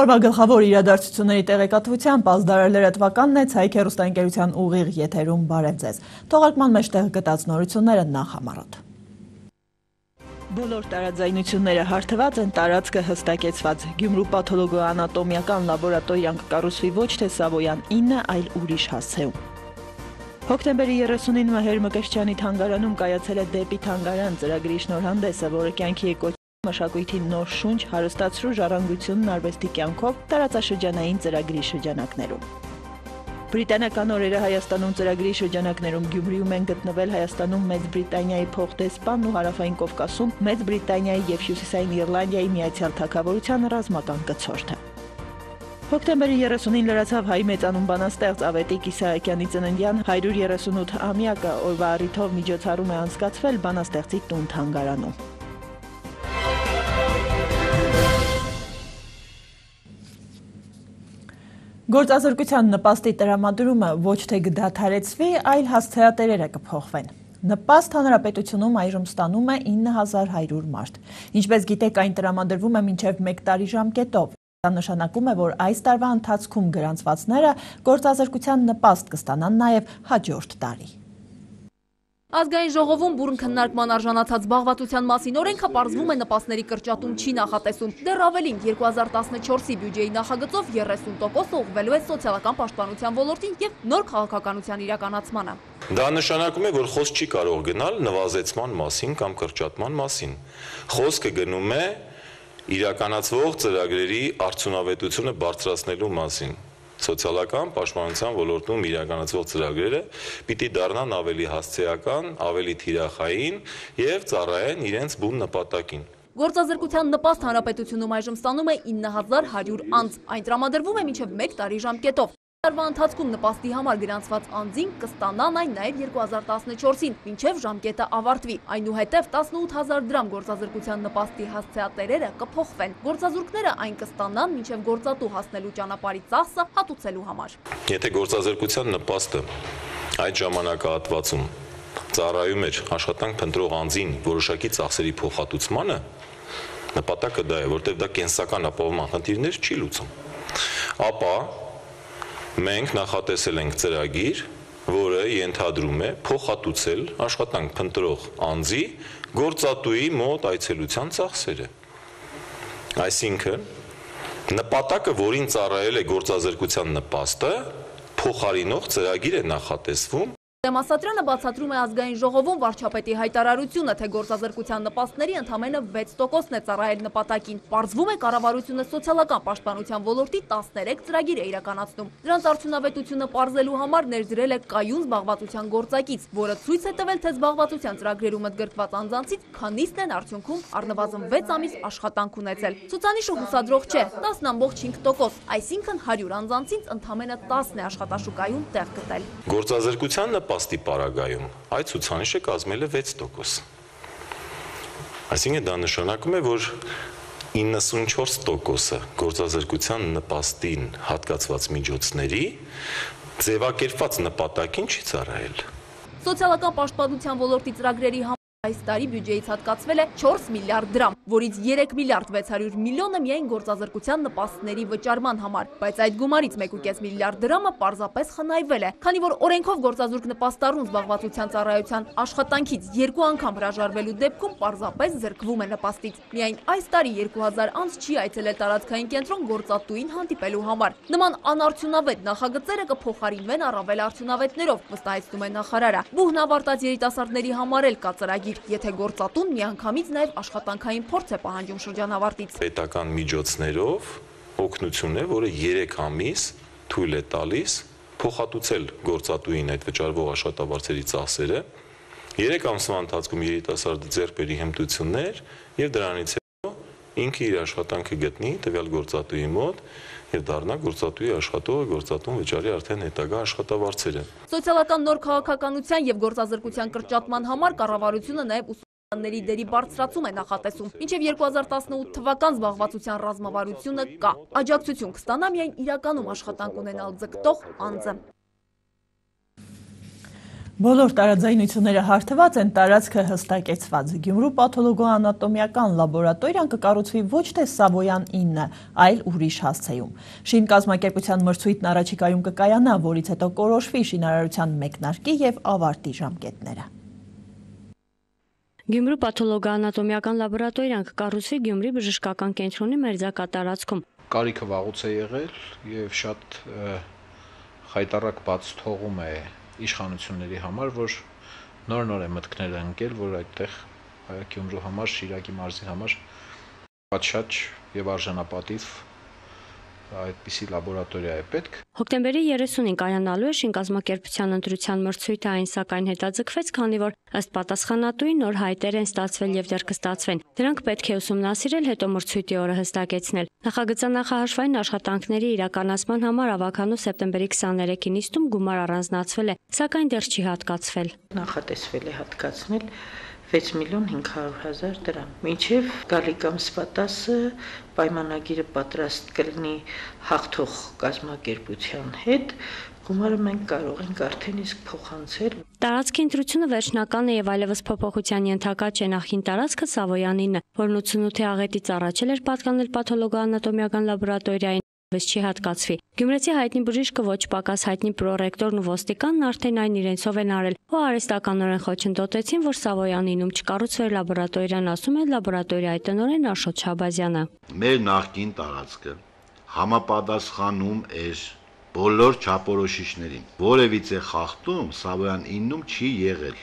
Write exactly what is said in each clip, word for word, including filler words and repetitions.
Օրվա գլխավոր իրադարձությունների տեղեկատվությամբ ազդարար լրատվականն է Ցայք հեռուստաընկերության ուղիղ եթերում բարև ձեզ։ Թողարկման մեջ տեղ գտած նորությունները նախ համառոտ։ Բոլոր տարաձայնությունները հարթված են տարածքը հստակեցված։ Գյումրու պաթոլոգոանատոմիական լաբորատորիան կկառուցվի ոչ թե Սավոյան ինը, այլ ուրիշ հասցեում։ Հոկտեմբերի երեսունին Մհեր Մկրտչյանի թանգարանում կայացել է «Դեպի թանգարան» ծրագրի շնորհանդեսը, որը կյանքի է կոչվել մշակույթի նոր շունչ, հարստացրու ժառանգությունն արվեստի կյանքով տարածաշրջանային ծրագրի շրջանակներում։ Բրիտանական օրերը Հայաստանում ծրագրի շրջանակներում Գյումրիում են գտնվել Հայաստանում Մեծ Բրիտանիայի փոխդեսպանն ու Հարավային Կովկասում Մեծ Բրիտանիայի եւ Հյուսիսային Իռլանդիայի Միացյալ Թագավորության ռազմական կցորդը։ Հոկտեմբերի երեսունին լրացավ հայ մեծանուն բանաստեղծ Ավետիք Իսահակյանի ծննդյան հարյուր երեսունութ ամյակը, օրվա առիթով միջոցառում է անցկացվել բանաստեղծի տուն թանգարանում։ Գործազրկության նպաստի տրամադրումը ոչ թե կդադարեցվի, այլ հասցեատերերը կփոխվեն։ Նպաստ հանրապետությունում այժմ ստանում է ինը հազար հարյուր մարդ։ Ինչպես գիտեք, այն տրամադրվում է մինչև մեկ տարի ժամկետով։ Դա նշանակում է, որ այս տարվա ընթացքում գրանցվածները գործազրկության նպաստ կստանան նաև հաջորդ տարի։ Ազգային ժողովում բուրըն քննարկման արժանացած զբաղվածության մասին օրենքը պարզվում է նպաստների կրճատում չի նախատեսում։ Դեռ ավելին երկու հազար տասնչորսի բյուջեի նախագծով երեսուն տոկոս ուղղվելու է սոցիալական պաշտպանության ոլորտին եւ նոր քաղաքականության իրականացմանը։ Դա նշանակում է, որ խոսք չի կարող գնալ նվազեցման մասին կամ կրճատման մասին։ Խոսքը գնում է իրականացվող ծրագրերի արդյունավետությունը բարձրացնելու մասին։ Սոցիալական պաշտպանության ոլորտում իրականացվող ծրագրերը պիտի դառնան ավելի հասցեական, ավելի թիրախային եւ ծառայեն իրենց բուն նպատակին։ Գործազրկության նպաստ հանրապետությունում այժմ ստանում է ինը հազար հարյուր անձ, այն տրամադրվում է մինչև մեկ տարի ժամկետով։ Տարվա ընթացքում նպաստի համար գրանցված անձին կստանան այն նաև երկու հազար տասնչորսին, մինչև ժամկետը ավարտվի։ Այնուհետև տասնութ հազար դրամ գործազրկության նպաստի հասցեատերերը կփոխվեն։ Գործազուրկները այն կստանան մինչև գործատու հասնելու ճանապարհի ծախսը հատուցելու համար։ Եթե գործազրկության նպաստը այդ ժամանակահատվածում ծառայում էր աշխատանք փնտրող անձին որոշակի ծախսերի փոխհատուցմանը, նպատակը դա է, որտեղ դա կենսական ապահովման խնդիրներ չի լուծում։ Ապա մենք նախատեսել ենք ծրագիր, որը ենթադրում է փոխհատուցել աշխատանք փնտրող անձի գործատուի մոտ այցելության ծախսերը։ Այսինքն, նպատակը, որին ծառայել է գործազրկության նպաստը, փոխարինող ծրագիր է նախատեսվում։ Դեմասատրյանը բացատրում է ազգային ժողովում վարչապետի հայտարարությունը, թե գործազրկության նպաստների ընդամենը վեց տոկոսն է ծառայել նպատակին։ Պարզվում է կառավարությունը սոցիալական պաշտպանության ոլորտի տասներեք ծրագիր է իրականացնում։ Դրանց արդյունավետությունը պարզելու համար ներդրել է կայուն զբաղվածության գործակից, որը ցույց է տվել, թե զբաղվածության ծրագրերում ընդգրկված անձանցից քանիսն են արդյունքում առնվազն վեց ամիս աշխատանք ունեցել։ Ցուցանիշը հուսադրող չէ՝ տասն ամբողջ հինգ տոկոս, այսինքն հարյուր անձանցից ընդամենը տասն է աշխատաշուկայում տեղ գտել։ Գործազրկության նպաստի պարագայում այդ ցուցանիշը կազմել է վեց տոկոս։ Այսինքն դա նշանակում է, որ իննսունչորս տոկոսը գործազրկության նպաստին հատկացված միջոցների ձևակերպված նպատակին չի ծառայել։ Սոցիալական պաշտպանության ոլորտի ծրագրերի համար այս տարի բյուջեից հատկացվել է չորս միլիարդ դրամ, որից երեք միլիարդ վեց հարյուր միլիոնը միայն գործազրկության նպաստների վճարման համար, բայց այդ գումարից մեկ ու կես միլիարդ դրամը պարզապես խնայվել է, քանի որ օրենքով գործազուրկ նպաստառուն զբաղվածության ծառայության աշխատանքից երկու անգամ հրաժարվելու դեպքում պարզապես զրկվում է նպաստից։ Միայն այս տարի երկու հազար անձ չի այցելել տարածքային կենտրոն գործատուին հանդիպելու համար։ Նման անարդյունավետ նախագծերը կփոխարինվեն առավել արդյունավետներով, վստահեցնում է նախարարը։ Բուհն ավարտած երիտասարդների համար էլ կա ծրագիր, եթե գործատուն միանգամից նաև աշխատանքային փորձ է պահանջում շրջանավարտից։ Պետական միջոցներով օգնություն է, որը երեք ամիս թույլ է տալիս փոխհատուցել գործատուին այդ վճարվող աշխատավարձերի ծախսերը, երեք ամսվա ընթացքում երիտասարդը ձեռք բերի հմտություններ եւ դրանից հետո ինքը իր աշխատանքը գտնի տվյալ գործատուի մոտ եւ դառնա գործատուի աշխատողը, գործատուն վճարի արդեն հետագա աշխատավարձերը։ Սոցիալական նոր քաղաքականության եւ գործազրկության կրճատման համար կառավարությունը նաեւ ուսուցիչների դերի բարձրացում է նախատեսում։ Մինչև երկու հազար տասնութ թվական զբաղվածության ռազմավարությունը կա։ Աջակցություն կստանա միայն իրականում աշխատանք ունենալ ձգտող անձը։ Բոլոր տարաձայնությունները հարթված են, տարածքը հստակեցված։ Գյումրու պաթոլոգոանատոմիական լաբորատորիան կկառուցվի ոչ թե Սավոյան ինը, այլ ուրիշ հասցեում։ Շին կազմակերպության մրցույթն առաջիկայում կկայանա, որից հետո կորոշվի շինարարության մեկնարկի եւ ավարտի ժամկետները։ Գյումրու պաթոլոգոանատոմիական լաբորատորիան կկառուցվի Գյումրի բժշկական կենտրոնի մերձակա տարածքում։ Կարիքը վաղուց է եղել եւ շատ խայտառակ բաց թողում է իշխանությունների համար, որ նոր-նոր է մտքներ ընկել, որ այդտեղ Գյումրու համար, Շիրակի մարզի համար պատշաճ եւ արժանապատիվ այդպիսի լաբորատորիա է պետք։ Հոկտեմբերի երեսունին կայանալու է շինկազմակերպության ընտրության մրցույթը, այն սակայն հետաձգվեց, քանի որ ըստ պատասխանատուի նոր հայտեր են ստացվել եւ դեռ կստացվեն։ Դրանք պետք է ուսումնասիրել, հետո մրցույթի օրը հստակեցնել։ Նախագծանախահարժային աշխատանքների իրականացման համար ավականու սեպտեմբերի քսաներեքին նիստում գումար առանձնացվել է, սակայն դեռ չի հատկացվել։ Նախատեսվել է հատկացնել վեց միլիոն հինգ հարյուր հազար դրամ։ Մինչև գալիք ամսվա տասը պայմանագիրը պատրաստ կլինի հաղթող կազմակերպության հետ, գումարը մենք կարող ենք արդեն իսկ փոխանցել։ Տարածքի ընտրությունը վերջնական է եւ այլևս փոփոխության ենթակա չէ։ Նախին տարածքը Սավոյանինն է, որն ութսունութի աղետից առաջել էր պատկանել պաթոլոգոանատոմիական լաբորատորիային, բայց չի հատկացվի։ Գյումրեցի հայտնի բժիշկը, ոչ պակաս հայտնի պրոռեկտորն ու ոստիկանն արդեն այն իրենցով են արել ու արհեստականորեն խոչընդոտեցին, որ Սավոյանինում չկառուցվեր լաբորատորիան, ասում է լաբորատորիայի տնօրեն Աշոտ Շաբազյանը։ Մեր նախկին տարածքը համապատասխանում էր բոլոր չափորոշիչներին։ Որևիցե խախտում Սավոյան իննում չի եղել։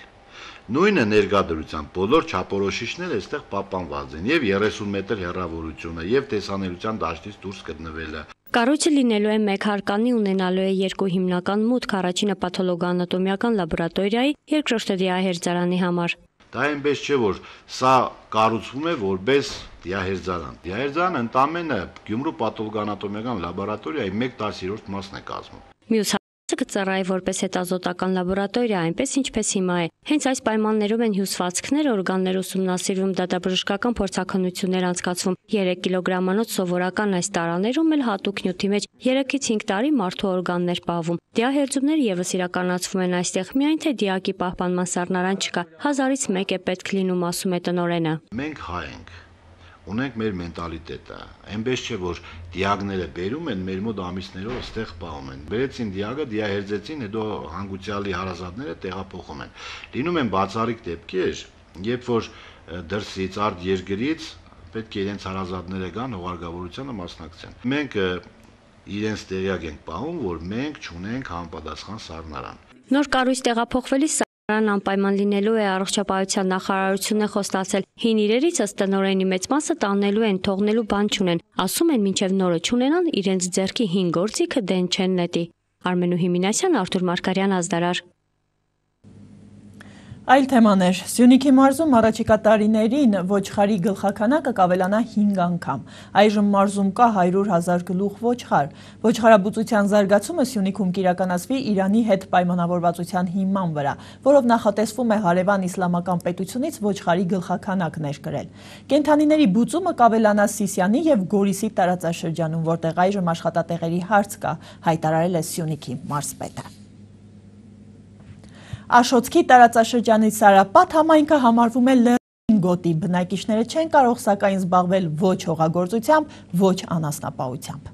Նույնը ներկայությամբ բոլոր չափորոշիչները այստեղ պահպանված են եւ երեսուն մետր հեռավորությունը եւ տեսանելիության դաշտից դուրս գտնվելը։ Կառույցը լինելու է մեկ հարկանի, ունենալու է երկու հիմնական մուտք, առաջինը պաթոլոգոանատոմիական լաբորատորիայի, երկրորդը դիահերձարանի համար։ Դա այնպես չէ, որ սա կառուցվում է որպես դիահերձարան։ Դիահերձարանը ընդամենը Գյումրու պաթոլոգոանատոմիական լաբորատորիայի մեկ տասնյոթ մասն է կազմում։ Մյուս կծառայի որպես հետազոտական լաբորատորիա, այնպես ինչպես հիմա է։ Հենց այս պայմաններում են հյուսվածքներ, օրգաններ ուսումնասիրվում, դատաբժշկական փորձաքննություններ անցկացվում։ երեք կիլոգրամանոց սովորական այս տարաներում էլ հատուկ նյութի մեջ երեքից հինգ տարի մարդու օրգաններ պահվում։ Դիահերձումները եւս իրականացվում են այստեղ, միայն թե դիակի պահպանման սառնարան չկա։ Հազարից մեկ է պետք լինում, ասում է տնօրենը։ Մենք հայ ենք, ունենք մեր մենտալիտետը, այնպես չէ, որ դիագները բերում են, մեր մոտ ամիսներով այստեղ պահում են։ Բերեցին դիագը, դիահերձեցին, հետո հանգուցյալի հարազատները տեղափոխում են։ Լինում են բացառիկ դեպքեր, երբ որ դրսից արդ երկրից պետք է իրենց հարազատները գան հողարգավորությանը մասնակցեն։ Մենք իրենց տեղյակ ենք պահում, որ մենք չունենք համապատասխան սառնարան։ Նոր կառույց տեղափոխվելիս Սառնարան անպայման լինելու է, առողջապահության նախարարությունն է խոստացել։ Հին իրերից ըստ տնօրենի մեծ մասը տանելու են, թողնելու բան չունեն։ Ասում են, մինչև նորը չունենան, իրենց ձեռքի հին գործիքը դեն չեն նետի։ Արմենու Հիմինասյան, Արթուր Մարգարյան, Ազդարար։ Այլ թեմաներ. Սյունիքի մարզում առաջիկա տարիներին ոչխարի գլխաքանակը կավելանա հինգ անգամ։ Այժմ մարզում կա հարյուր հազար գլուխ ոչխար։ Ոչխարաբուծության զարգացումը Սյունիքում կիրականացվի Իրանի հետ պայմանավորվածության հիման վրա, որով նախատեսվում է հարևան իսլամական պետությունից ոչխարի գլխաքանակ ներկրել։ Կենդանիների բուծումը կավելանա Սիսիանի եւ Գորիսի տարածաշրջանում, որտեղ այժմ աշխատատեղերի հարց կա, հայտարարել է Սյունիքի մարզպետը։ Աշոտքի տարածաշրջանի Սարապատ համայնքը համարվում է լեռնային գոտի, բնակիչները չեն կարող սակայն զբաղվել ոչ հողագործությամբ, ոչ անասնապահությամբ։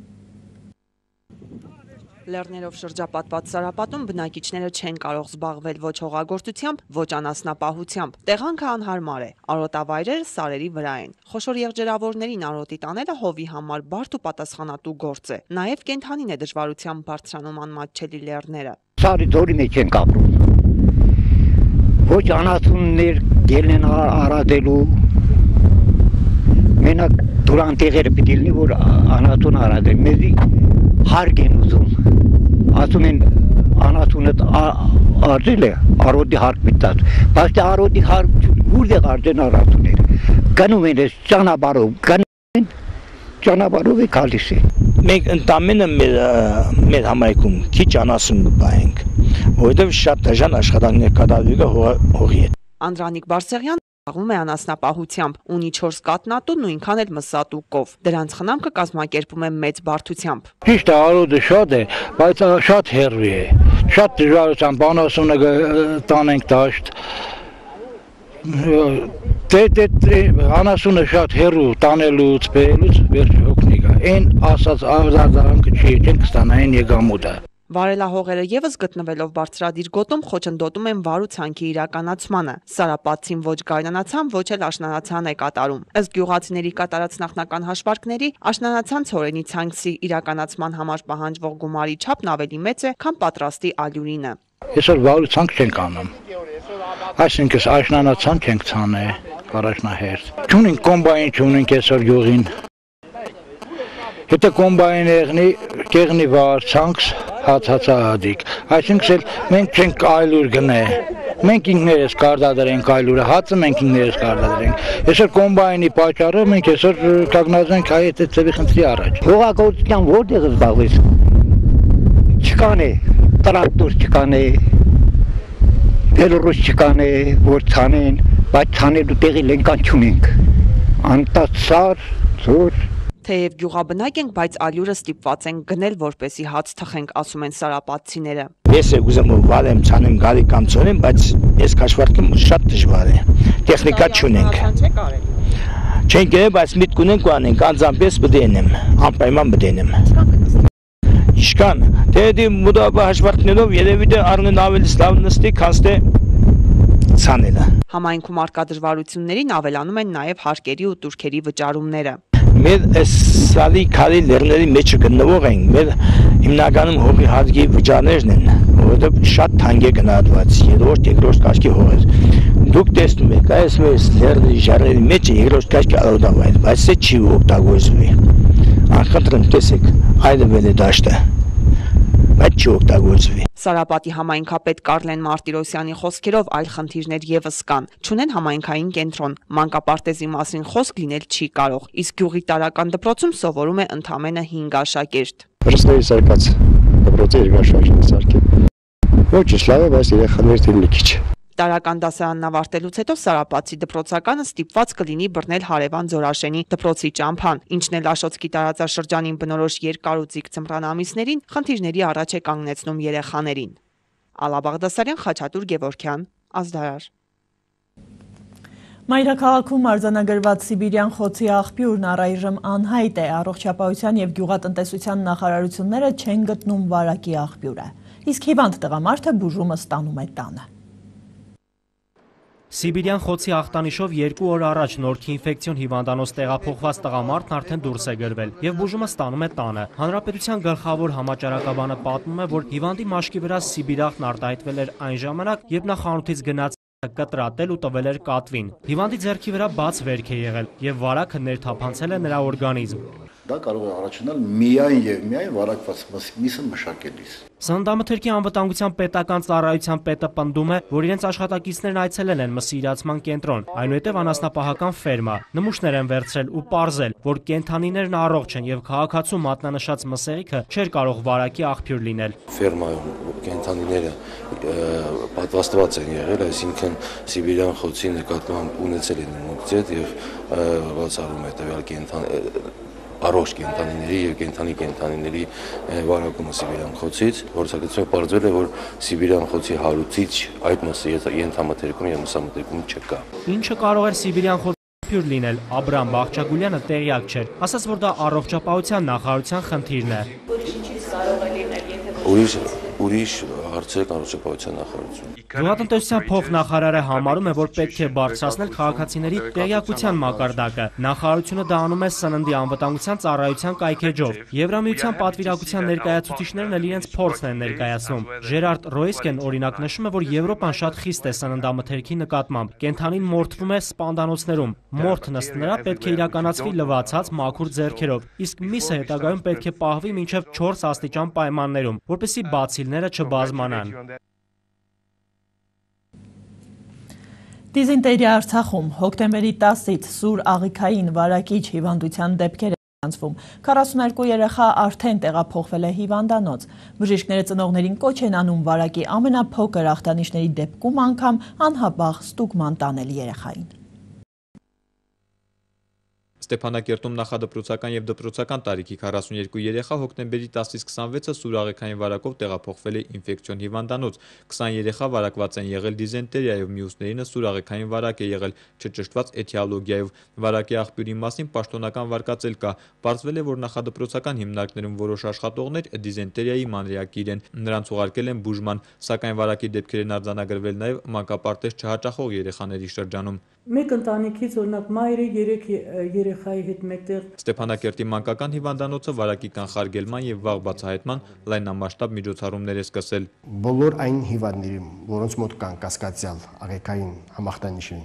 Լեռներով շրջապատված Սարապատում բնակիչները չեն կարող զբաղվել ոչ հողագործությամբ, ոչ անասնապահությամբ։ Տեղանքը անհարմար է, արոտավայրերը սարերի վրա են։ Խոշոր եղջերավորներին արոտի տանելը հովի համար բարդ ու պատասխանատու գործ է։ Նաև կենդանին է դժվարությամբ բարձրանում անմատչելի լեռները։ Սարի ձորի մեջ են կապրում։ Ոչ անասուններ գելն են արադելու, մենակ դուրան տեղերը պիտի լինի, որ անասուն արադել, մեզի հարկ են ուզում, ասում են անասունը արձել է, արոդի հարկ միտած, բայց թե արոդի հարկ ուրդեղ արձեն անասուններ, գնում են ես ճանաբարով, գնում են ճանաբարով է կալիս է։ Մենք ընդամենը մեր համայնքում քիչ անասուն կպահենք, որովհետև շատ դժան աշխատանքներ կատարվի հողի հետ։ Անդրանիկ Բարսեղյան Զբաղվում է անասնապահությամբ, ունի չորս կատնատու, նույնքան էլ մսատու կով։ Դրանց խնամքը կազմակերպում է մեծ բարդությամբ։ Ճիշտ է, արոդը շատ է, բայց շատ հեռու է։ Շատ դժվարությամբ անասունը տանենք դաշտ։ Դե անասունը շատ հեռու տանելուց, բերելուց վերջ օգնի գա։ Այն ասած արձագանքը չի, չենք ստանա այն եկամուտը։ Վարելահողերը եւս գտնվելով բարձրադիր գոտում խոչընդոտում են վար ու ցանքի իրականացմանը։ Սարապատցին ոչ գայնանացան, ոչ էլ աշնանացան է կատարում։ Ըստ գյուղացիների կատարած նախնական հաշվարկների, աշնանացան ցորենի ցանքսի իրականացման համար պահանջվող գումարի չափն ավելի մեծ է, քան պատրաստի ալյուրինը։ Այսօր վար ու ցանք չենք անում։ Այսինքն աշնանացան չենք ցանել առաջնահերթ։ Չունենք կոմբայն, չունենք այսօր գյուղին։ Հետո կոմբայն եղնի, կեղնի վար, ցանքս հացածադիկ, այսինքն մենք չենք այլուր գնե, մենք ինքներս կարտադրենք այլուրը, հացը մենք ինքներս կարտադրենք, այսօր կոմբայնի պատճառը մենք այսօր կանգնած ենք այդ ծևի խնդրի առաջ։ Հողագործության որտեղ զբաղվես, չկան է, տրակտոր չկան է, բելորուս չկան է, որ ցանեն, բայց ցանելու տեղի լենկան չունենք, անտացար, ծոր, Թեև գյուղաբնակ ենք, բայց ալյուրը ստիպված ենք գնել, որպեսի հաց թխենք, ասում են սարապատցիները։ Ես ուզում եմ վարեմ, ցանեմ, գալի կամ ցորեմ, բայց ես քաշվարկեմ շատ դժվար է։ Տեխնիկա չունենք։ Չենք գնել, բայց միտք ունենք ու անենք, անձամբ պետք է ենեմ, անպայման պետք է ենեմ։ Իշքան, դե մոդաբա հաշվարկներով երևի թե առնեն ավելի լավ նստի, քան թե ցանելը։ Համայնքում արկա դժվարություններին ավելանում են նաև հարկերի ու տուրքերի վճարումները։ Մեր սալի քարի լեռների մեջ գտնվող են, մեր հիմնականում հողի հարկի վճարներն են, որովհետև շատ թանկ է գնահատված, երրորդ, երկրորդ կարգի հողեր։ Դուք տեսնում եք, այս մեր լեռների ժառերի մեջ է երկրորդ կարգի արոտավայր, բայց դա չի օգտագործվի։ Անխնդրեմ տեսեք, այլևել է դաշտը, բայց չի օգտագործվի։ Սարապատի համայնքապետ Կարլեն Մարտիրոսյանի խոսքերով այլ խնդիրներ եւս կան։ Չունեն համայնքային կենտրոն, մանկապարտեզի մասին խոսք լինել չի կարող, իսկ գյուղի տարական դպրոցում սովորում է ընդամենը հինգ աշակերտ։ Ռստերի սարկած դպրոցի երկաշարժն սարքել։ Ոչ լավ է, բայց երեխաներ դիլի քիչ։ Տարական դասարանն ավարտելուց հետո Սարապատցի դպրոցականը ստիպված կլինի բռնել հարևան Ձորաշենի դպրոցի ճամփան, ինչն էլ Աշոտսկի տարածաշրջանին բնորոշ երկար ու ձիգ ձմռան ամիսներին խնդիրների առաջ է կանգնեցնում երեխաներին։ Ալա Բաղդասարյան, Խաչատուր Գևորգյան, Ազդարար։ Մայրաքաղաքում արձանագրված Սիբիրյան խոցի աղբյուրն առայժմ անհայտ է, առողջապահության եւ գյուղատնտեսության նախարարությունները չեն գտնում վարակի աղբյուրը, իսկ հիվանդ տղամարդը բուժումը ստանում է տանը։ Սիբիրյան խոցի ախտանիշով երկու օր առաջ Նորքի ինֆեկցիոն հիվանդանոց տեղափոխված տղամարդն արդեն դուրս է գրվել եւ բուժումը ստանում է տանը։ Հանրապետության գլխավոր համաճարակաբանը պատմում է, որ հիվանդի մաշկի վրա սիբիրախտն արտահայտվել էր այն ժամանակ, երբ նա խանութից գնաց կտրատել ու տվել էր կատվին։ Հիվանդի ձեռքի վրա բաց վերք է եղել եւ վարակը ներթափանցել է նրա օրգանիզմ։ Դա կարող է առաջանալ միայն եւ միայն վարակված միսը մշակելիս։ Սննդամթերքի անվտանգության պետական ծառայության պետը պնդում է, որ իրենց աշխատակիցներն այցելել են մսի իրացման կենտրոն, այնուհետև անասնապահական ֆերմա, նմուշներ են վերցրել ու պարզել, որ կենդանիներն առողջ են եւ քաղաքացու մատնանշած մսեղիքը չէր կարող վարակի աղբյուր լինել։ Ֆերմայում կենդանիները պատվաստված են եղել, այսինքն Սիբիրյան խոցի նկատմամբ ունեցել են ինֆեկցիա եւ բացառում է տվյալ կենդան առողջ կենդանիների եւ կենդանի կենդանիների վարակումը Սիբիրյան խոցից, որսակցությունը պարզվել է, որ Սիբիրյան խոցի հարուցիչ այդ մսի ենթամթերքում եւ մսամթերքում չկա։ Ինչը կարող էր Սիբիրյան խոցի լինել, Աբրամ Բաղչագուլյանը տեղյակ չէր, ասաց, որ դա առողջապահության նախարարության խնդիրն է։ Ուրիշ ուրիշ հարցեր առողջապահության նախարարություն։ Գյուղատնտեսության փոխնախարարը համարում է, որ պետք է բարձրացնել քաղաքացիների տեղյակության մակարդակը։ Նախարարությունը դա անում է սննդի անվտանգության ծառայության կայքեջով։ Եվրամիության պատվիրակության ներկայացուցիչներն էլ իրենց փորձն են ներկայացնում։ Ժերարդ Ռոյսկեն օրինակ նշում է, որ Եվրոպան շատ խիստ է սննդամթերքի նկատմամբ։ Կենդանին մորթվում է սպանդանոցներում։ Մորթ նստելը պետք է իրականացվի լվացած մաքուր ձեռքերով, իսկ միսը հետագայում պետք է պահվի մինչև չորս աստիճան պայմաններում, որպեսզի բացիլները չբազմանան։ Դիզինտերիա Արցախում հոկտեմբերի տասից սուր աղիքային վարակիչ հիվանդության դեպքեր են ստացվում։ քառասունուերկու երեխա արդեն տեղափոխվել է հիվանդանոց։ Բժիշկները ծնողներին կոչ են անում վարակի ամենափոքր ախտանիշների դեպքում անգամ անհապաղ ստուգման տանել երեխային։ Ստեփանակերտում նախադպրոցական եւ դպրոցական տարիքի քառասունյոթ երեխա հոկտեմբերի տասից քսանվեցը սուր աղեքային վարակով տեղափոխվել է ինֆեկցիոն հիվանդանոց։ քսան երեխա վարակված են եղել դիզենտերիայով, մյուսներինը սուր աղեքային վարակ է եղել չճշտված էթիոլոգիայով։ Վարակի աղբյուրի մասին պաշտոնական վարկածել կա։ Պարզվել է, որ նախադպրոցական հիմնարկներում որոշ աշխատողներ դիզենտերիայի մանրեակիր են։ Նրանց ուղարկել են բուժման, սակայն վարակի դեպքեր են արձանագրվել նաեւ մանկապարտեզ չհաճախող երեխաների շրջանում։ Մեկ ընտանիքից օրինակ մայրը երեք երեխայի հետ մեկտեղ։ Ստեփանակերտի մանկական հիվանդանոցը վարակի կանխարգելման եւ վաղ բացահայտման լայնամասշտաբ միջոցառումներ է սկսել։ Բոլոր այն հիվանդներին, որոնց մոտ կան կասկածյալ աղեկային համախտանիշի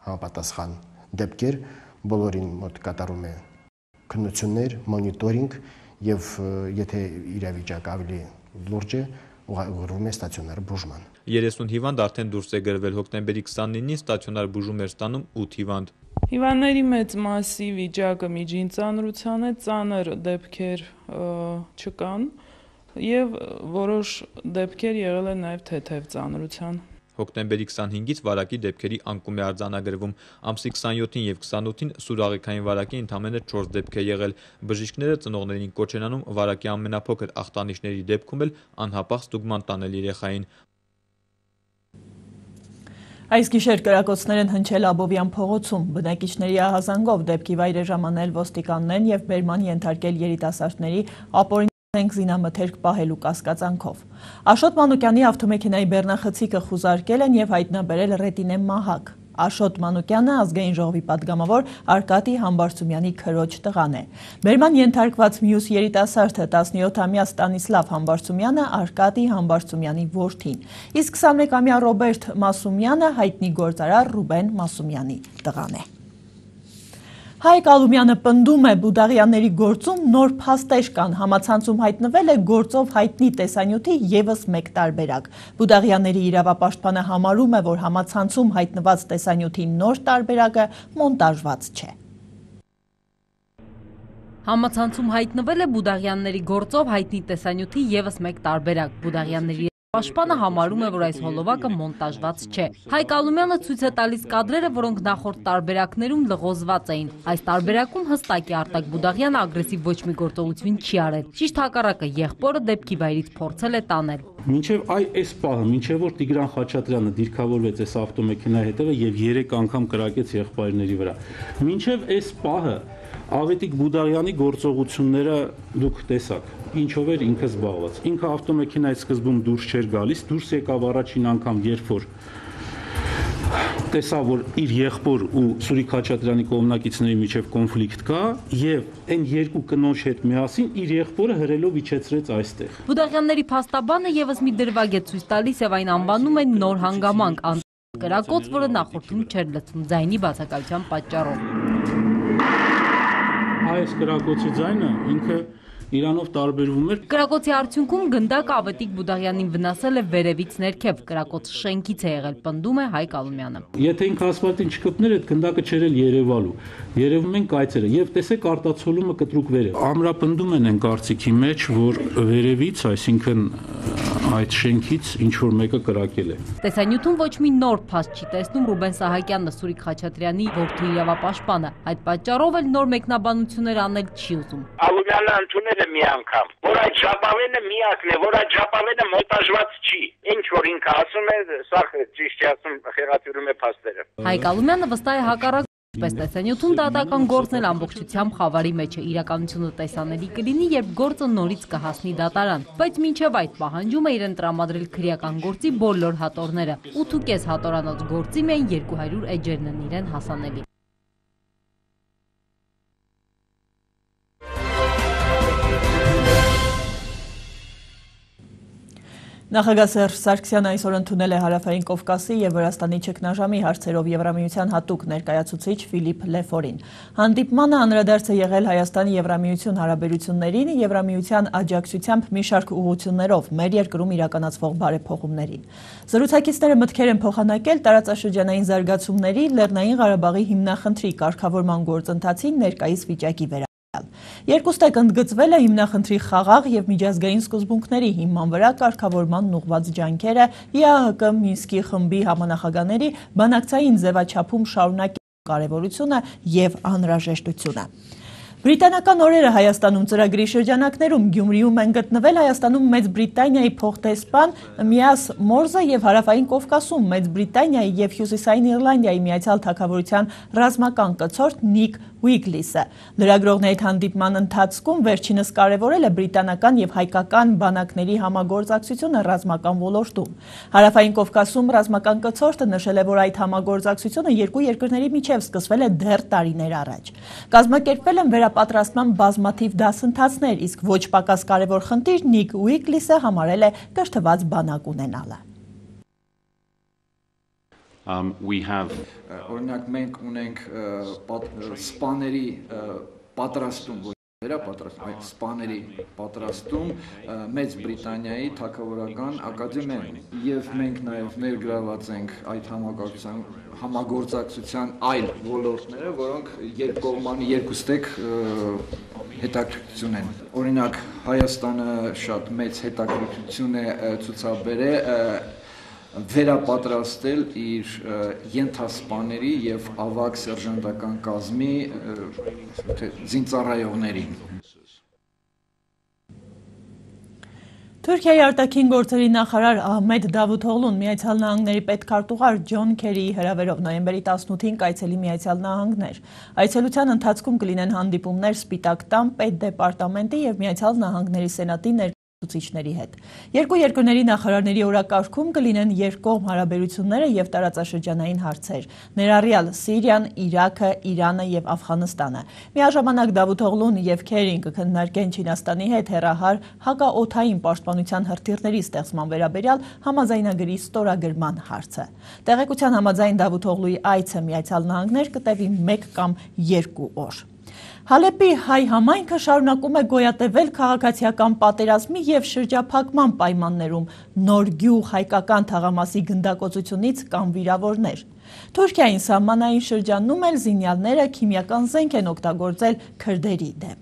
համապատասխան դեպքեր, բոլորին մոտ կատարում է քննություններ, մոնիտորինգ եւ եթե իրավիճակը ավելի լուրջ է, ուղղվում է ստացիոնար բուժման։ երեսուն հիվանդ արդեն դուրս է գրվել, հոկտեմբերի քսանինին ստացիոնար բուժում էր ստանում ութ հիվանդ։ Հիվանդների մեծ մասի վիճակը միջին ծանրության է, ծանր դեպքեր չկան եւ որոշ դեպքեր եղել են նաեւ թեթև ծանրության։ Հոկտեմբերի քսանհինգից վարակի դեպքերի անկում է արձանագրվում։ Ամսի քսանյոթին եւ քսանութին սուր աղեքային վարակի ընդամենը չորս դեպք է եղել։ Բժիշկները ծնողներին կոչ են անում վարակի ամենափոքր ախտանիշների դեպքում էլ անհապաղ ստուգման տանել երեխային։ Այս գիշեր կրակոցներ են հնչել Աբովյան փողոցում, բնակիչների ահազանգով դեպքի վայր է ժամանել ոստիկաններն եւ բերման ենթարկել երիտասարդների ապօրինակ զինամթերք պահելու կասկածանքով։ Աշոտ Մանուկյանի ավտոմեքենայի բեռնախցիկը խուզարկել են եւ հայտնաբերել Ռետինե Մահակ։ Աշոտ Մանուկյանը ազգային ժողովի պատգամավոր Արկադի Համբարձումյանի քրոջ տղան է։ Բերման ենթարկված մյուս երիտասարդը տասնյոթամյա Ստանիսլավ Համբարձումյանը Արկադի Համբարձումյանի որդին, իսկ քսանմեկամյա Ռոբերտ Մասումյանը հայտնի գործարար Ռուբեն Մասումյանի տղան է։ Հայկ Ալումյանը պնդում է Բուդաղյանների գործում նոր փաստեր կան, համացանցում հայտնվել է գործով հայտնի տեսանյութի ևս մեկ տարբերակ։ Բուդաղյանների իրավապաշտպանը համարում է, որ համացանցում հայտնված տեսանյութի նոր տարբերակը մոնտաժված չէ։ Համացանցում հայտնվել է Բուդաղյանների գործով հայտնի տեսանյութի ևս մեկ տարբերակ։ Բուդաղյանների Պաշտպանը համարում է, որ այս հոլովակը մոնտաժված չէ։ Հայկ Ալումյանը ցույց է տալիս կադրերը, որոնք նախորդ տարբերակներում լղոզված էին։ Այս տարբերակում հստակ է Արտակ Բուդաղյանը ագրեսիվ ոչ մի գործողություն չի արել։ Ճիշտ հակառակը, եղբորը դեպքի վայրից փորձել է տանել։ Մինչև այ այս պահը, մինչև որ Տիգրան Խաչատրյանը դիրքավորվեց այս ավտոմեքենայի հետևը եւ երեք անգամ կրակեց եղբայրների վրա։ Մինչև այս պահը Ավետիք Բուդաղյանի գործողությունները դուք տեսաք, ինչով էր ինքը զբաղված։ Ինքը ավտոմեքենայից սկզբում դուրս չէր գալիս, դուրս եկավ առաջին անգամ, երբ որ տեսավ, որ իր եղբոր ու Սուրիկ Խաչատրյանի կողմնակիցների միջև կոնֆլիկտ կա, եւ այն երկու կնոջ հետ միասին իր եղբորը հրելով իջեցրեց այստեղ։ Բուդաղյանների փաստաբանը եւս մի դրվագ է ցույց տալիս եւ այն անվանում են նոր հանգամանք, կրակոց, որը նախորդում չէր լցվում ձայնի բացակայության պատճառով։ Այս կրակոցի ձայնը ինքը իրանով տարբերվում էր։ Կրակոցի արդյունքում գնդակ Ավետիք Բուդաղյանին վնասել է վերևից ներքև, կրակոցը շենքից է եղել, պնդում է Հայկ Ալումյանը։ Եթե ինքը ասֆալտին չկպներ, այդ գնդակը չէր էլ երևալու։ Երևում են կայծերը եւ տեսեք արտացոլումը կտրուկ վերև։ Ամրապնդում են այն կարծիքի մեջ, որ վերևից, այսինքն այդ շենքից ինչ որ մեկը կրակել է։ Տեսանյութում ոչ մի նոր փաստ չի տեսնում Ռուբեն Սահակյանն, Սուրիկ Խաչատրյանի որդու իրավապաշտպանը։ Այդ պատճառով էլ նոր մեկնաբանություններ անել չի ուզում։ Ալումյանը ընդունել է մի անգամ, որ այդ ժապավենը միակն է, որ այդ ժապավենը մոնտաժված չի։ Ինչ որ ինքը ասում է, սա ճիշտ է ասում, խեղաթյուրում է փաստերը։ Հայկ Ալումյանը վստահ է հակառակ Պես տեսանյութում դատական գործն էլ ամբողջությամբ խավարի մեջ է, իրականությունը տեսանելի կլինի, երբ գործը նորից կհասնի դատարան, բայց մինչև այդ պահանջում է իրեն տրամադրել քրեական գործի բոլոր հատորները, ութ ու կես հատորանոց գործի միայն երկու հարյուր էջերն են իրեն հասանելի։ Նախագահ Սերժ Սարգսյանը այսօր ընդունել է Հարավային Կովկասի եւ Վրաստանի ճգնաժամի հարցերով Եվրամիության հատուկ ներկայացուցիչ Ֆիլիպ Լեֆորին։ Հանդիպմանը անդրադարձ է եղել Հայաստանի Եվրամիություն հարաբերություններին, Եվրամիության աջակցությամբ մի շարք ուղղություններով մեր երկրում իրականացվող բարեփոխումներին։ Զրուցակիցները մտքեր են փոխանակել տարածաշրջանային զարգացումների, Լեռնային Ղարաբաղի հիմնախնդրի կարգավորման գործընթացի ներկայիս վիճակի վրա։ Երկուստեք ընդգծվել է հիմնախնդրի խաղաղ եւ միջազգային սկզբունքների հիման վրա կարգավորման ուղղված ջանքերը ԵԱՀԿ Մինսկի խմբի համանախագահների բանակցային ձևաչափում շարունակել կարևորությունը եւ անհրաժեշտությունը։ Բրիտանական օրերը Հայաստանում ծրագրի շրջանակներում Գյումրիում են գտնվել Հայաստանում Մեծ Բրիտանիայի փոխտեսպան Միաս Մորզը եւ Հարավային Կովկասում Մեծ Բրիտանիայի եւ Հյուսիսային Իռլանդիայի Միացյալ Թագավորության ռազմական կցորդ Նիկ Ուիգլիսը։ Լրագրողների հանդիպման ընթացքում վերջինս կարևորել է բրիտանական եւ հայկական բանակների համագործակցությունը ռազմական ոլորտում։ Հարավային Կովկասում ռազմական կցորդը նշել է, որ այդ համագործակցությունը երկու երկրների միջև սկսվել է դեռ տարիներ առաջ։ Կազմակերպվել են վերապատրաստման բազմաթիվ դասընթացներ, իսկ ոչ պակաս կարևոր խնդիր Նիկ Ուիգլիսը համարել է կրթված բանակ ունենալը։ Um, we have օրինակ մենք ունենք սպաների պատրաստում, վերապատրաստում, սպաների պատրաստում Մեծ Բրիտանիայի թագավորական ակադեմիայում եւ մենք նաեւ ներգրաված ենք այդ համագործակցության այլ ոլորտները, որոնք երկկողմանի երկուստեք հետաքրքրություն են։ Օրինակ Հայաստանը շատ մեծ հետաքրքրություն է ցուցաբերել վերապատրաստել իր ենթասպաների եւ ավագ սերժանտական կազմի զինծառայողներին։ Թուրքիայի արտաքին գործերի նախարար Ահմեդ Դավութօղլուն Միացյալ Նահանգների պետքարտուղար Ջոն Քերիի հրավերով նոյեմբերի տասնութին կայցելի Միացյալ Նահանգներ։ Այցելության ընթացքում կլինեն հանդիպումներ Սպիտակ տան պետդեպարտամենտի եւ Միացյալ Նահանգների սենատի ներկայացուցիչների հետ։ Երկու երկրների նախարարների օրակարգում կլինեն երկկողմ հարաբերությունները եւ տարածաշրջանային հարցեր, ներառյալ Սիրիան, Իրաքը, Իրանը եւ Աֆղանստանը։ Միաժամանակ Դավութօղլուն եւ Քերին կքննարկեն Չինաստանի հետ հեռահար հակաօդային պաշտպանության հրթիռների ստեղծման վերաբերյալ համաձայնագրի ստորագրման հարցը։ Տեղեկության համաձայն Դավութօղլուի այցը Միացյալ Նահանգներ կտևի մեկ կամ երկու օր։ Հալեպի հայ համայնքը շարունակում է գոյատևել քաղաքացիական պատերազմի եւ շրջափակման պայմաններում նոր գյուղ հայկական թաղամասի գնդակոծությունից կամ վիրավորներ։ Թուրքիային սահմանային շրջանում էլ զինյալները քիմիական զենք են օգտագործել քրդերի դեմ։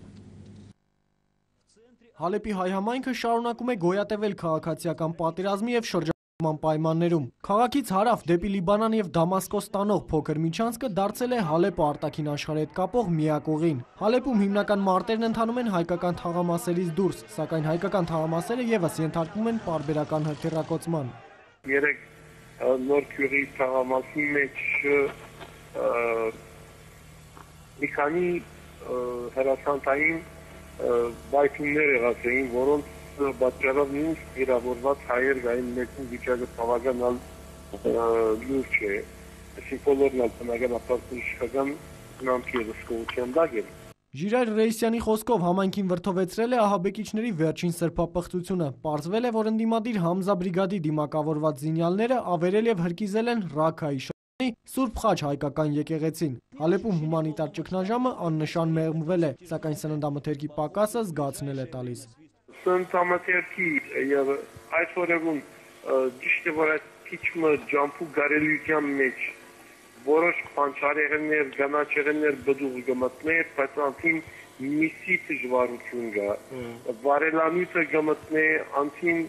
Հալեպի հայ համայնքը շարունակում է գոյատևել քաղաքացիական պատերազմի եւ շրջափակման պայմաններում։ Քաղաքից հարավ դեպի Լիբանան եւ Դամասկոս տանող փոքր միջանցքը դարձել է Հալեպը արտաքին աշխարհի հետ կապող միակ ուղին։ Հալեպում հիմնական մարտերն ընթանում են հայկական թաղամասերից դուրս, սակայն հայկական թաղամասերը եւս ենթարկվում են պարբերական հրթիռակոծման։ Երեք նոր քյուրի թաղամասի մեջ մի քանի հրացանտային բայթումներ եղած էին, որոնց պատճառով նույնիսկ վիրավորված հայեր գային մեկին վիճակը բավականալ լուրջ է, այսինքն բոլորն էլ բնական ապարտուժական նամքի ռիսկության դակ են։ Ժիրայր Ռեյսյանի խոսքով համայնքին վրդովեցրել է ահաբեկիչների վերջին սրբապղծությունը։ Պարզվել է, որ ընդդիմադիր Համզա բրիգադի դիմակավորված զինյալները ավերել եւ հրկիզել են Ռաքայի շրջանի Սուրբ Խաչ հայկական եկեղեցին։ Հալեպում հումանիտար ճգնաժամը աննշան մեղմվել է, սակայն սննդամթերքի պակասը զգացնել է տալիս։ Սննդամթերքի եւ այս օրերում ճիշտ է, որ այդ քիչը ջամփու գարելիության մեջ որոշ փանչարեղեններ, գանաչեղեններ բդուղ գմտներ, բայց անցին միսի դժվարություն կա։ Վարելանույթը գմտնե, անցին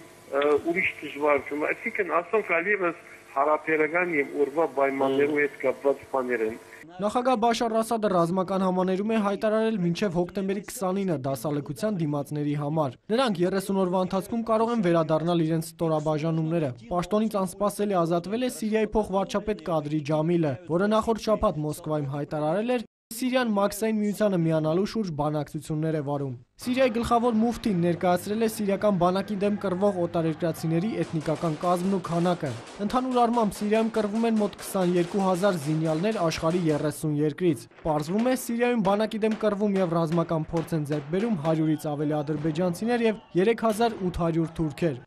ուրիշ դժվարություն։ Այսինքն ասենք այլևս հարաբերական եւ ուրվա պայմաններու հետ կապված բաներ են։ Նախագահ Բաշար Ասադը ռազմական համաներում է հայտարարել մինչև հոկտեմբերի քսանինը դասալքության դիմացների համար։ Նրանք երեսուն օրվա ընթացքում կարող են վերադառնալ իրենց ստորաբաժանումները։ Պաշտոնից անսպասելի ազատվել է Սիրիայի փոխվարչապետ Կադրի Ջամիլը, որը նախորդ շաբաթ Մոսկվայում հայտարարել էր, Սիրիան Մաքսային միությանը միանալու շուրջ բանակցություններ է վարում։ Սիրիայի գլխավոր մուֆտին ներկայացրել է սիրիական բանակի դեմ կռվող օտարերկրացիների էթնիկական կազմն ու քանակը։ Ընդհանուր առմամբ Սիրիայում կռվում են մոտ քսաներկու հազար զինյալներ աշխարհի երեսուն երկրից։ Պարզվում է Սիրիայում բանակի դեմ կռվում եւ ռազմական փորձ են ձեռք բերում հարյուրից ավելի ադրբեջանցիներ եւ երեք հազար ութ հարյուր թուրքեր։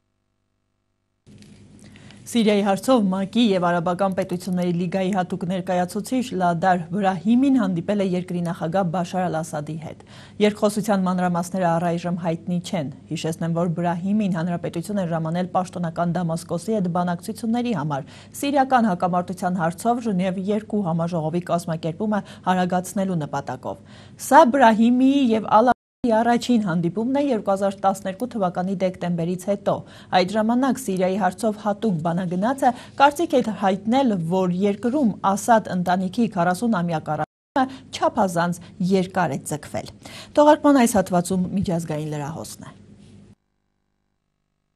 Սիրիայի հարցով ՄԱԿ-ի եւ Արաբական պետությունների լիգայի հատուկ ներկայացուցիչ Լադար Բրահիմին հանդիպել է երկրի նախագահ Բաշար Ալ-Ասադի հետ։ Երկխոսության մանրամասները առայժմ հայտնի չեն։ Հիշեցնեմ, որ Բրահիմին հանրապետություն է ժամանել պաշտոնական Դամասկոսի հետ բանակցությունների համար սիրիական հակամարտության հարցով Ժնև երկու համաժողովի կազմակերպումը արագացնելու նպատակով։ Սա Բրահիմի եւ Առաջին հանդիպումն է երկու հազար տասներկու թվականի դեկտեմբերից հետո։ Այդ ժամանակ Սիրիայի հարցով հատուկ բանագնացը կարծիք է հայտնել, որ երկրում Ասադ ընտանիքի քառասունամյա կառավարումը չափազանց երկար է ձգվել։ Թողարկման այս հատվածում միջազգային լրահոսն է։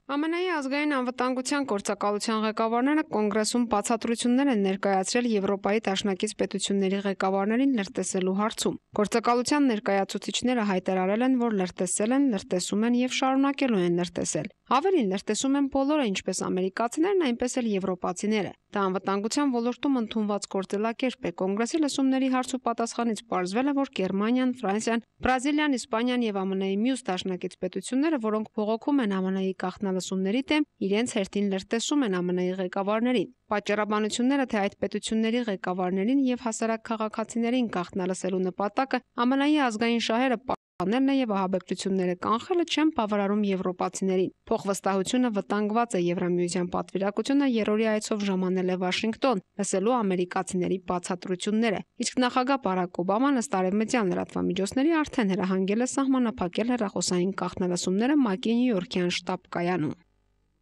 Ամենայի ազգային անվտանգության գործակալության ղեկավարները կոնգրեսում բացատրություններ են ներկայացրել Եվրոպայի դաշնակից պետությունների ղեկավարներին լրտեսելու հարցում։ Գործակալության ներկայացուցիչները հայտարարել են, որ լրտեսել են, լրտեսում են եւ շարունակելու են լրտեսել։ Ավելին լրտեսում են բոլորը, ինչպես ամերիկացիներն, այնպես էլ եվրոպացիները։ Դա անվտանգության ոլորտում ընդունված գործելակերպ է։ Կոնգրեսի լսումների հարց ու պատասխանից պարզվել է, որ Գերմանիան, Ֆրանսիան, Բրազիլիան, Իսպանիան եւ ԱՄՆ-ի մյուս դաշնակից պետությունները, որոնք բողոքում են ԱՄՆ-ի գաղտնալսումների դեմ, իրենց հերթին լրտեսում են ԱՄՆ-ի ղեկավարներին։ Պատճառաբանությունները, թե այդ պետությունների ղեկավարներին եւ հասարակ քաղաքացիներին գաղտնալսելու նպատակը ԱՄՆ-ի ազգային շահերը պահպանելն է եւ ահաբեկչությունները կանխելը չեն բավարարում եվրոպացիներին։ Փոխվստահությունը վտանգված է, Եվրամիության պատվիրակությունը երրորդի այցով ժամանել է Վաշինգտոն, լսելու ամերիկացիների բացատրությունները։ Իսկ նախագահ Բարակ Օբաման ըստ արևմտյան լրատվամիջոցների արդեն հրահանգել է սահմանափակել հեռախոսային գաղտնալսումները ՄԱԿ-ի Նյու Յորքյան շտաբ կայանում։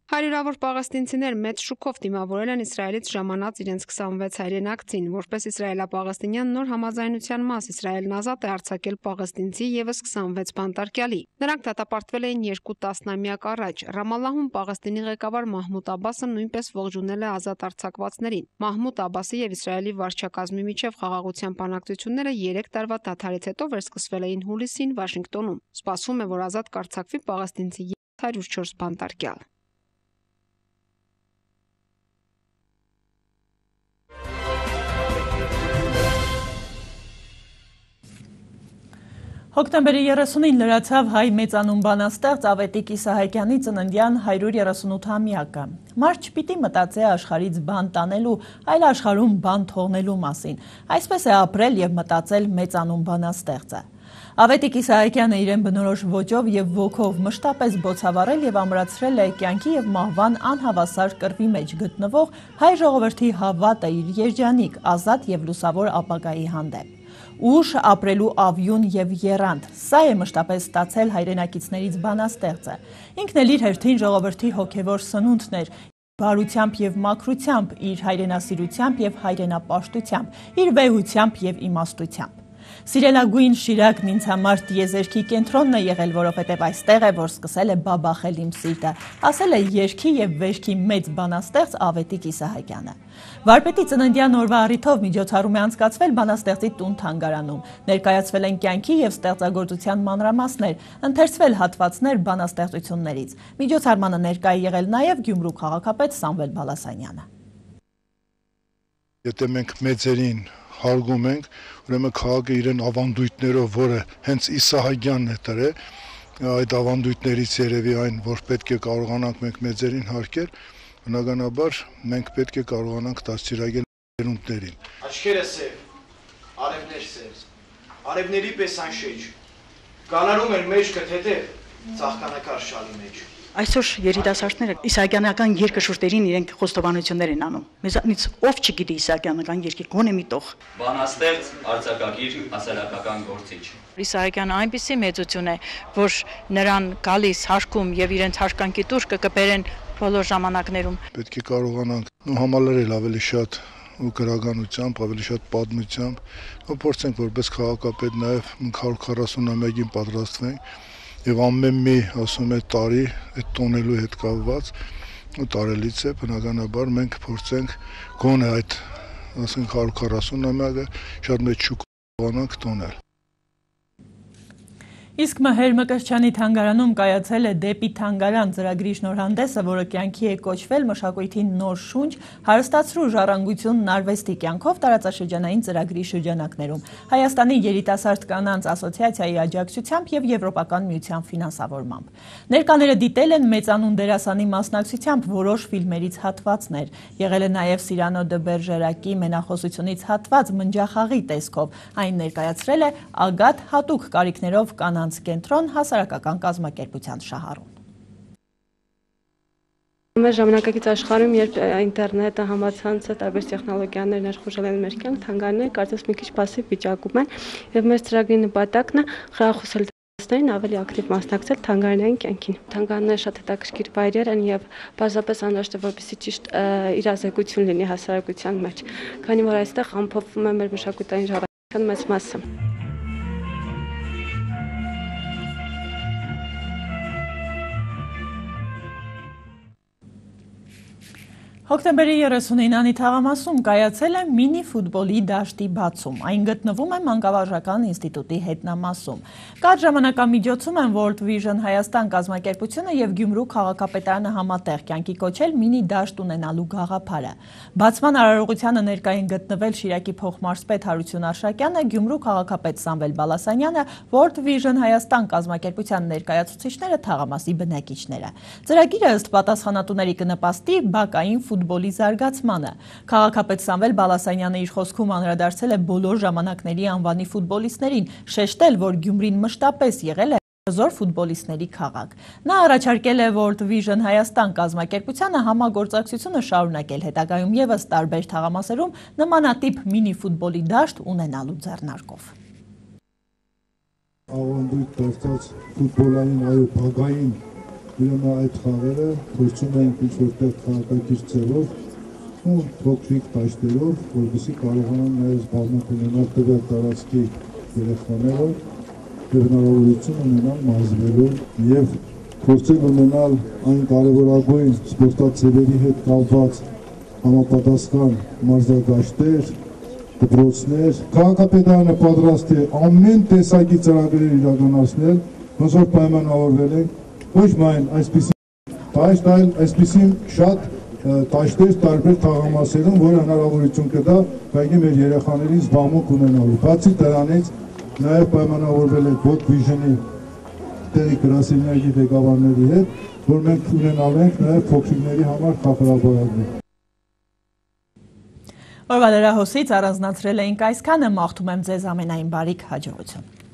Հարյուրավոր պաղեստինցիներ մեծ շուկով դիմավորել են Իսրայելից ժամանած իրենց քսանվեց հայրենակցին, որպես իսրայելապաղեստինյան նոր համաձայնության մաս Իսրայելն ազատ է արձակել պաղեստինցի եւս քսանվեց բանտարկյալի։ Նրանք դատապարտվել էին երկու տասնամյակ առաջ։ Ռամալլահում Պաղեստինի ղեկավար Մահմուդ Աբբասը նույնպես ողջունել է ազատ արձակվածներին։ Մահմուդ Աբբասի եւ Իսրայելի վարչակազմի միջև խաղաղության բանակցությունները երեք տարվա դադարից հետո վերսկսվել էին հուլիսին Վաշինգտոնում։ Սպասվում է, որ ազատ կարձակվի պաղեստինցի հարյուր չորս բանտարկյալ։ Հոկտեմբերի երեսունին լրացավ հայ մեծանուն բանաստեղծ Ավետիք Իսահակյանի ծննդյան հարյուր երեսունութամյակը։ Մարդ չպիտի մտածի աշխարհից բան տանելու, այլ աշխարհում բան թողնելու մասին։ Այսպես է ապրել եւ մտածել մեծանուն բանաստեղծը։ Ավետիք Իսահակյանը իրեն բնորոշ ոճով եւ ոգով մշտապես բոցավառել եւ ամրացրել է կյանքի եւ մահվան անհավասար կռվի մեջ գտնվող հայ ժողովրդի հավատը իր երջանիկ, ազատ եւ լուսավոր ապագայի հանդեպ։ Ուշ ապրելու ավյուն եւ եռանդ, սա է մշտապես ստացել հայրենակիցներից բանաստեղծը։ Ինքն էլ իր հերթին ժողովրդի հոգևոր սնունդն էր, բարությամբ եւ մաքրությամբ, իր հայրենասիրությամբ եւ հայրենապաշտությամբ, իր վեհությամբ եւ իմաստությամբ։ Սիրելագույն Շիրակն ինձ համար տիեզերքի կենտրոնն է եղել, որովհետև այստեղ է, որ սկսել է բաբախել իմ սիրտը, ասել է երգի եւ վերքի մեծ բանաստեղծ Ավետիք Իսահակյանը։ Վարպետի ծննդյան օրվա առիթով միջոցառում է անցկացվել բանաստեղծի տուն-թանգարանում, ներկայացվել են կյանքի եւ ստեղծագործության մանրամասներ, ընթերցվել հատվածներ բանաստեղծություններից։ Միջոցառմանը ներկայ է եղել նաեւ Գյումրու քաղաքապետ Սամվել Բալասանյանը։ Եթե մենք մեծերին հարգում ենք, ուրեմն քաղաքը իրեն ավանդույթներով, որը հենց Իսահակյանն է տրել, այդ ավանդույթներից երևի այն, որ պետք է կարողանանք մենք մեծերին հարգել, բնականաբար մենք պետք է կարողանանք դաստիարակել երունդներին։ Աչքերը սև, արևներ սև, արևների պես անշեջ, կանարում են մեջքը թեթև, ծաղկանակար շալի մեջ։ Այսօր երիտասարդները իսահակյանական երկը շուրթերին իրենք խոստովանություններ են անում։ Մեզանից ով չգիտի իսահակյանական երկի գոնե մի տող։ Բանաստեղծ, արձակագիր, հասարակական գործիչ։ Իսահակյանը այնպիսի մեծություն է, որ նրան գալիս հարկում եւ իրենց հարկանքի տուր կկբերեն բոլոր ժամանակներում։ Պետք է կարողանանք համալրել ավելի շատ ու գրականությամբ, ավելի շատ պատմությամբ, ու փորձենք որպես քաղաքապետ նաեւ հարյուր քառասունամյակին պատրաստվենք։ Եվ ամեն մի, ասում է, տարի այդ տոնելու հետ կապված ու տարելից է, բնականաբար մենք փորձենք գոնե այդ, ասենք, հարյուր քառասունամյակը շատ մեծ շուկ կարողանանք տոնել։ Իսկ Մհեր Մկրտչյանի թանգարանում կայացել է «Դեպի թանգարան» ծրագրի շնորհանդեսը, որը կյանքի է կոչվել մշակույթի նոր շունչ, հարստացրու ժառանգությունն արվեստի կյանքով տարածաշրջանային ծրագրի շրջանակներում, Հայաստանի երիտասարդ կանանց ասոցիացիայի աջակցությամբ եւ Եվրոպական միության ֆինանսավորմամբ։ Ներկաները դիտել են մեծանուն դերասանի մասնակցությամբ որոշ ֆիլմերից հատվածներ, եղել է նաեւ Սիրանո դը Բերժերակի մենախոսությունից հատված մնջախաղի տեսքով, այն ներկայացրել է Ագատ հատուկ կարիքներով կանանց կենտրոն հասարակական կազմակերպության շահառուն։ Մեր ժամանակակից աշխարհում, երբ ինտերնետը, համացանցը, տարբեր տեխնոլոգիաներ ներխուժել են մեր կյանք, թանգարանները կարծես մի քիչ պասիվ վիճակում են, եւ մեր ծրագրի նպատակն է խրախուսել դպրոցներին ավելի ակտիվ մասնակցել թանգարանային կյանքին։ Թանգարանները շատ հետաքրքիր վայրեր են եւ բազապես անհրաժեշտ է, որպեսզի ճիշտ իրազեկություն լինի հասարակության մեջ, քանի որ այստեղ ամփոփվում է մեր մշակութային ժառանգության մեծ մասը։ Հոկտեմբերի երեսունինանի թաղամասում կայացել է մինի ֆուտբոլի դաշտի բացում։ Այն գտնվում է Մանկավարժական ինստիտուտի հետնամասում։ Կարճ ժամանակամիջոցում են World Vision Հայաստան կազմակերպությունը եւ Գյումրու քաղաքապետարանը համատեղ կյանքի կոչել մինի դաշտ ունենալու գաղափարը։ Բացման արարողությանը ներկային գտնվել Շիրակի փոխմարզպետ Հարություն Արշակյանը, Գյումրու քաղաքապետ Սամվել Բալասանյանը, World Vision Հայաստան կազմակերպության ներկայացուցիչները, թաղամասի բնակիչները։ Ծրագիրը ըստ պատասխանատուների կնպաստի բակային ֆուտբոլի զարգացմանը։ Քաղաքապետ Սամվել Բալասանյանը իր խոսքում անդրադարձել է բոլոր ժամանակների անվանի ֆուտբոլիստներին, շեշտել, որ Գյումրին մշտապես եղել է հզոր ֆուտբոլիստների քաղաք։ Նա առաջարկել է World Vision Հայաստան կազմակերպությանը համագործակցությունը շարունակել հետագայում ևս տարբեր թաղամասերում նմանատիպ մինի ֆուտբոլի դաշտ ունենալու ձեռնարկով։ Ավանդույթ դարձած ֆուտբոլային այո բակային Ուրեմն այդ խաղերը փորձում ենք ինչ-որտեղ քաղաքակիրթ ձևով ու փոքրիկ դաշտերով, որպեսզի կարողանան նաև զբաղմունք ունենալ տվյալ տարածքի երեխաները եւ հնարավորություն ունենան մարզվելու եւ փորձել ունենալ այն կարևորագույն սպորտաձևերի հետ կապված համապատասխան մարզադաշտեր, դպրոցներ։ Քաղաքապետարանը պատրաստ է ամեն տեսակի ծրագրեր իրականացնել, ոնց որ պայմանավորվել ենք ոչ միայն այսպիսի դաշտ, այլ այսպիսի շատ դաշտեր տարբեր թաղամասերում, որը հնարավորություն կտա բակի մեր երեխաներին զբաղմունք ունենալու։ Բացի դրանից նաև պայմանավորվել ենք World Vision-ի տեղի գրասենյակի ղեկավարների հետ, որ մենք ունենալու ենք նաև փոքրիկների համար խաղապարակներ։ Օրվա լրահոսից առանձնացրել էինք այսքանը, մաղթում եմ ձեզ ամենայն բարիք հաջողություն։